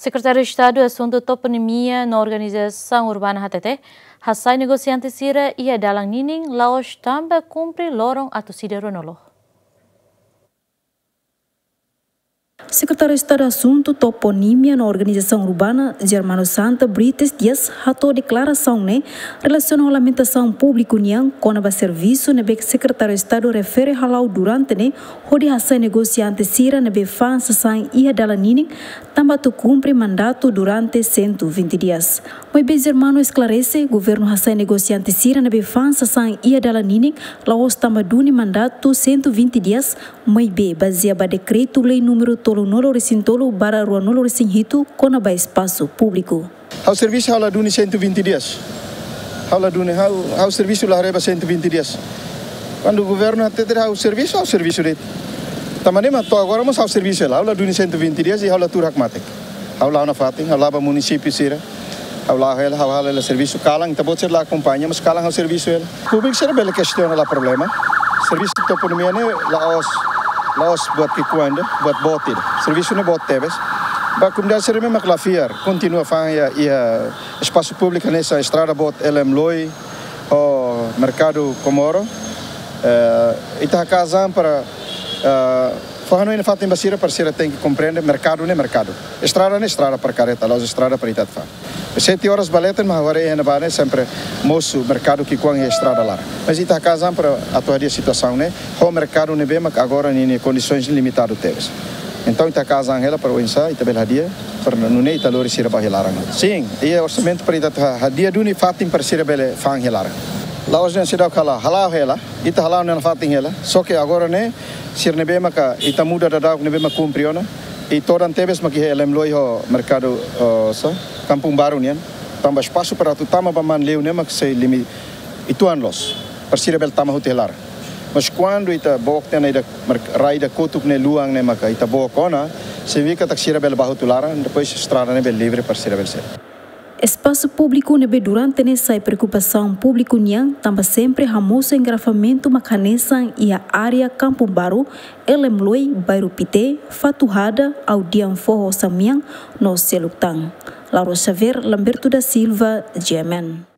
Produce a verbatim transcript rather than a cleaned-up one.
Sekretáriu Estadu Asuntu Toponimia no Organizasaun Urbana hatete, hasai negosiante sira iha dalan ninin la'ós tanba kumpre loron atus ida ruanulu. Sekretáriu Estadu Asuntu Toponimia no Organizasaun Urbana, Germano Santa Brites Dias, hato'o deklarasaun ne'e relasiona ho lamentasaun públiku nian kona-ba servisu ne'ebé Sekretáriu Estadu refere hala'o durante ne'e hodi hasai negosiante sira ne'ebé fa'an sasán iha dalan ninin tanba atu kumpre mandatu durante cento e vinte dias. Maibé Germano esklarese, governu hasai negosiante sira ne'ebé fa'an sasán iha dalan ninin la'ós tanba duni mandatu cento e vinte dias, maibé bazeia ba dekretu-lei númeru tolunulu-resin-tolu barra ruanulu-resin-hitu kona-ba espasu públiku. Ha'u servisu ha'u la duni cento e vinte dias. Ha'u la duni, ha'u, ha'u servisu la haree ba cento e vinte dias. Kuandu governu hatete ha'u servisu, ha'u servisu de'it. Tanba ne'e mak to'o agora mós ha'u servisu hela, ha'u la duni cento e vinte dias i ha'u la tuur hakmatek. Ha'u la'o nafatin, ha'u la'o ba munisípiu sira. Ha'u la'o hela, ha'u halo hela servisu kalan, ita-boot sira la akompaña, mas kalan ha'u servisu hela. Públiku sira bele kestiona, la problema. Servisu toponimia ne'e la'ós, la'ós buat ki'ikoan de'it, buat boot ida. Servisu ne'e boot tebes. Ba komunidade sira ne'ebé mak la fiar, kontinua fa'an iha, iha espasu públiku hanesan estrada boot L M Loi ho Merkadu Komoro. Eh, ita hakaas an para, eh, fó hanoin nafatin ba sira, para sira tenke komprende, merkadu ne'e merkadu. Estrada ne'e estrada para karreta, la'ós estrada para ita atu fa'an. Sete horas ba leten mak ha'u haree iha ne'ebá ne'e sempre mosu merkadu ki'ikoan iha estrada laran. Mas ita hakaas an para atu hadi'a situasaun ne'e ho merkadu ne'ebé mak agora ninia kondisoens limitadu tebes. Entaun ita hakaas an hela para oinsá ita bele hadi'a, para nune'e ita lori sira ba iha laran. Sin, iha orsamentu para ita atu ha-, hadi'a duni fatin para sira bele fa'an iha laran. La'ós dehan seidauk hala'o, hala'o hela, ita hala'o ona nafatin hela. Só ke agora ne'e, sira ne'ebé maka ita muda daudauk ne'ebé mak kumpre ona. I todan tebes mak iha L M Loi ho merkadu, eh, sá, Kampung Baru nian. Tanba espasu para atu tama ba Manleu ne'e mak sei limi-, uitoan loos. Para sira bele tama hotu iha laran. Mas kuandu ita book tiha ona ida merk-, rai ida kotuk ne'e luan ne'e maka ita book ona, signifika katak sira bele bá hotu laran, depois estrada ne'e bele livre para sira bele sa'e. Espasu públiku ne'ebé durante ne'e sai preokupasaun públiku nian tanba sempre hamosu engarrafamentu mak hanesan iha área Kampung Baru, L M Loi, Bairru Pité, Fatuhada, Audian Foho Samian, no seluk tan. Laura Xavier, Lamberto da Silva, G M N.